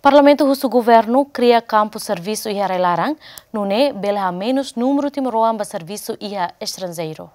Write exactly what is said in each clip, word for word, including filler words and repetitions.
Parlamentu husu governu kria kampu servisu iha rai-laran, nune'e bele hamenus númeru timoroan ba servisu iha estranjeiru.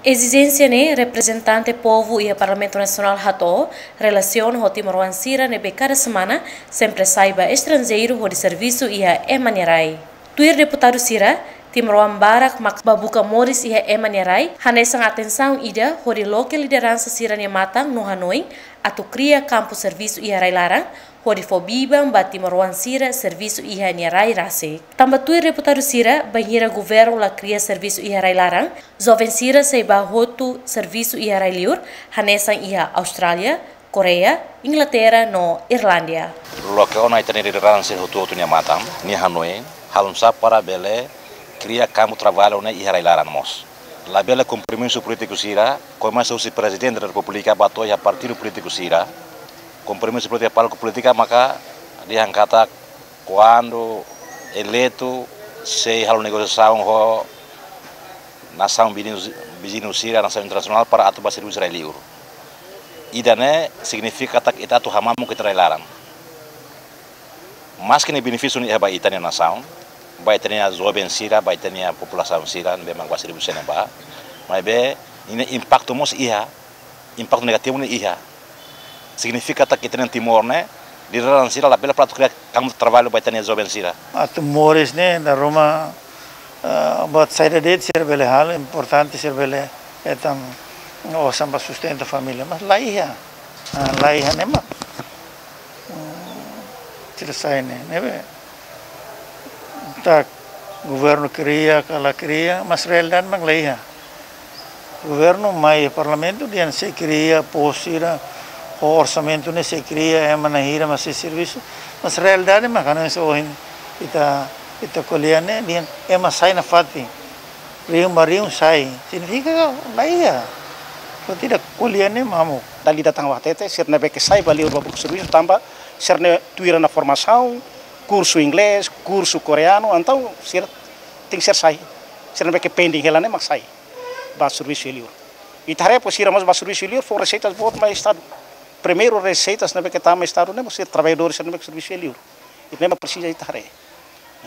Ezijénsia ne'e reprezentante povu iha Parlamentu Nasionál hato'o relasiona ho timoroan sira ne'ebé kada semana sempre sai ba estranjeiru hodi servisu iha ema nia rai. Tuir deputadu sira, timoroan barak mak ba buka moris iha ema nia rai, hanesan atensaun ida hodi loke lideransa sira-nia matan no hanoin atu kria kampu servisu iha rai-laran, hodi fó biban ba timoroan sira servisu iha nia rai rasik. Tanba tuir deputadu sira, bainhira governu la kria servisu iha rai-laran, joven sira sei ba hotu servisu iha rai-liur, hanesan iha Austrália, Koreia, Inglaterra no Irlándia. Loke ona ita-nia lideransa hotu-hotu nia matan, nia hanoin, halo nu'usá para bele kria kampu traballu ne'e iha rai-laran mós. Labele kompromisu polítiku sira, komesa husi Prezidente da Repúblika ba to'o iha partidu polítiku sira. Kompromisu polítiku, palku polítika maka dehan katak kuandu eleitu sei halo negosiasaun ho nasaun viziñu, viziñu sira, nasaun internasionál para atu ba servisu rai-liur. Ida-ne'e signifika katak ita atu hamamuk ita rai-laran. Maski ne'e benefísiu ne'e iha ba ita-nia nasaun, ba ita-nia joven sira, ba ita-nia populasaun sira ne'ebé mak ba servisu iha ne'ebá. Maibé, ne'e impaktu mós iha, impaktu negativu ne'e iha. Signifika katak ita-nia Timor ne'e, lideransa sira labele para atu kria kampu traballu ba ita-nia joven sira. Atu moris ne'e, dala ruma, ah, buat saida de'it sira bele halo, importante sira bele hetan osan para sustenta família. Mas la iha. Ah, la iha ne'e mak, hmm, sira sai ne'e, ne'ebé tak governu kria ka la kria, mas realidade mak la iha. Governu mai Parlamentu dehan sei kria postu sira, ho orsamentu ne'e sei kria, ema na'in hira mak sei servisu. Mas realidade mak hanesan ohin ita, ita ko'alia ne'e, dehan ema sai nafatin. Rihun ba rihun sai. Signifika la iha. Kalau tidak, ko'alia ne'e mamuk. Dala ida tan ba hatete, sira ne'ebé ke sai ba liur ba buka servisu tanba sira-nia tuir ona formasaun, kursu inglés, kursu koreanu, entaun sira tenke sira sai. Sira ne'ebé ke pending hela ne'e mak sai ba servisu iha liur. Ita haree depois sira mós ba servisu iha liur, fó reseitas boot mai Estadu. Primeiru reseitas ne'ebé ke tama Estadu ne'e mós sira traballadór sira ne'ebé ke servisu iha liur. Ida-ne'e mak presiza ita haree.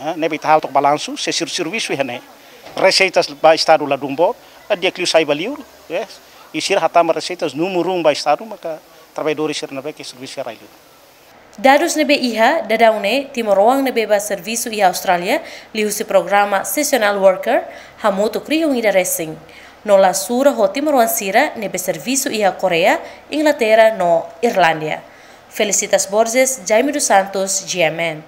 Ah, ne'ebé ita halo took balansu, se sira servisu iha ne'e, reseitas ba Estadu ladún boot, ah, di'ak liu sai ba liur, eh, i sira hatama reseitas númeru um ba Estadu, maka traballadór sira ne'ebé ke servisu iha rai-liur. Dadus ne'ebé iha, daudaun ne'e, timoroan ne'ebé ba servisu iha Austrália, liuhusi programa seasonal worker, hamutuk rihun ida resin. No la sura ho timoroan sira ne'ebé servisu iha Koreia, Inglaterra no Irlándia. Felicitas Borges, Jaime dos Santos, G M N.